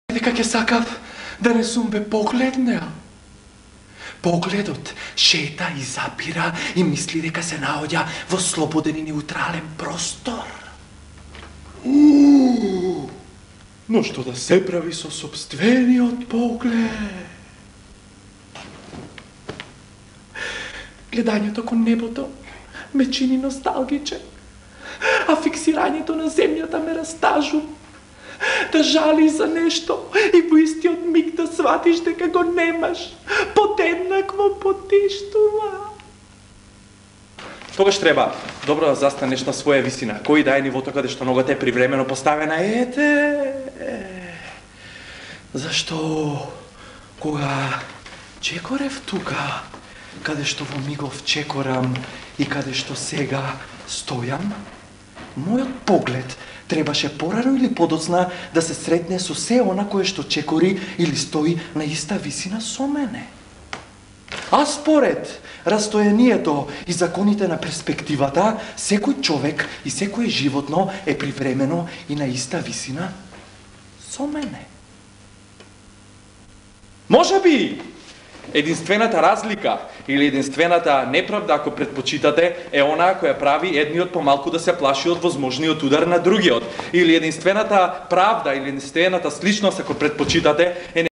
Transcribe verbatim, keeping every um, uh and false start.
дека ќе сакав да не сум бе погледнеа. Погледот шета и запира и мисли дека се наоѓа во слободен и неутрален простор. Уу, но што да се прави со сопствениот поглед? Гледањето кон небото ме чини носталгичен, а фиксирањето на земјата ме растажу. Да жали за нешто и во истиот миг да сватиш дека го немаш, подеднакво потиштува. Тогаш треба добро да застанеш на своја висина, кој да е нивото каде што ногата е привремено поставена. Ете, зашто кога чекорев тука, каде што во мигов чекорам и каде што сега стојам, мојот поглед требаше порано или подоцна да се сретне со се она кое што чекори или стои на иста висина со мене. А според растојанието и законите на перспективата, секој човек и секој животно е привремено и на иста висина со мене. Може би единствената разлика или единствената неправда, ако предпочитате, е онаа која прави едниот помалку да се плаши од возможниот удар на другиот. Или единствената правда или единствената сличност, ако предпочитате, е